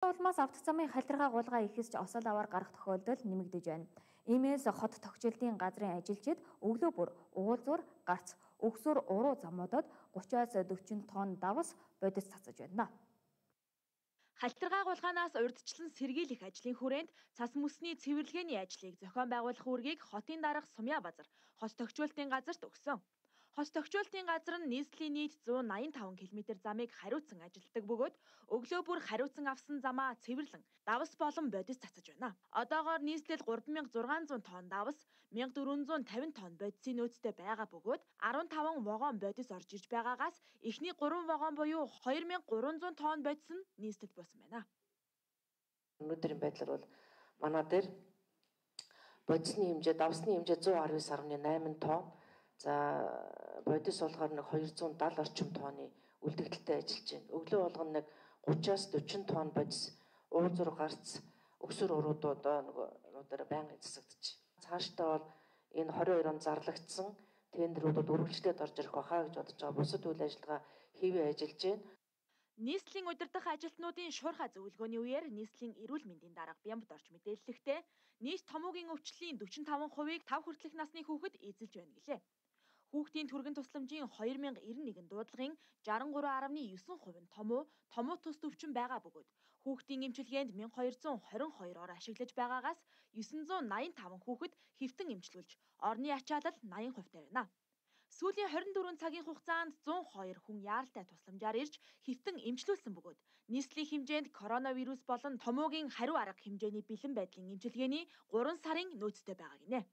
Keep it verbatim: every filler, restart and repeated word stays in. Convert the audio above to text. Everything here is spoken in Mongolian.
Улмаас авто замын халдиргаа гулгаа ихэсч осол аваар гарах тохиолдол нэмэгдэж байна. Иймээс хот тогтчлтын газрын ажилчид өглөө бүр уулзуур, гарц, өгсөр уруу замуудад гучаас дөрвөн тонн давс бодис цацаж байна. Халдиргаа гулгаанаас урьдчилан сэргийлэх ажлын хүрээнд цас мөсний цэвэрлэгээний ажлыг зохион байгуулах үүргийг хотын дарга Сумья Базар хос тогтчлтын газарт өгсөн. Хос тогтчлтын газар нь нийслэлийн нийт зуун найман таван км замыг хариуцсан ажилтдаг бөгөөд өглөө бүр хариуцсан авсан замаа цэвэрлэн давс болон бодис цацаж байна. Одоогоор нийслэл гурван мянга зургаан зуун тонн давс, мянга дөрвөн зуун тавин тонн бодисын нөөцтэй байгаа бөгөөд арван таван вагон бодис орж ирж байгаагаас эхний гурван вагон буюу хоёр мянга гурван зуун тонн бодис нь нийслэлд буусан байна. Өнөөдрийн байдлаар бол манай дээр бодисны хэмжээ, давсны хэмжээ зуун арван девять дасмал найман тонн. За бодис болохоор нэг хоёр зуун даатал орчим тонны үлдэгдэлтэй ажиллаж байна. Өглөө болгоно нэг гучаас дөрвөн тонн бодис уулзуур гарц өксөр уруудуудаа нөгөө нуудаараа байнгын засагдчих. Цаашдаа бол энэ двадцать хоёр он зарлагдсан тендеруудад үргэлжлээд орж ирэх баха гэж бодож байгаа. Бусад үйл ажиллагаа хэвээ ажиллаж байна. Нийслэлийн удирдах ажилтнуудын шуурхай зөвлөгөөний үеэр нийслэлийн эрүүл мэндийн дарга Бямбд орж мэдээллэхдээ нийт томоогийн өвчлөлийн дөрвөн таван хувийг тав хүртэлх насны хүүхэд эзэлж байна гэлээ. Хүүхдийн түргэн тусламжийн хоёр мянга девяносто нэгэн дуудлагын шестьдесят три дасмал девять хувь нь томуу, томуу тус төвчин байгаа бөгөөд хүүхдийн эмчилгээнд мянга хоёр зуун двадцать хоёр ор ашиглаж байгаагаас девять восемьдесят пять хүүхэд хэвтэн эмчилүүлж, орны ачаалал восемьдесят хувьтай байна. Сүүлийн двадцать четыре цагийн хугацаанд зуун хоёр хүн яаралтай тусламжаар ирж хэвтэн эмчилүүлсэн бөгөөд нийслэлийн хэмжээнд коронавирус болон томоогийн хариу арга хэмжээний бэлэн байдлын эмчилгээний гурван сарын нөөцтэй байгаа гинэ.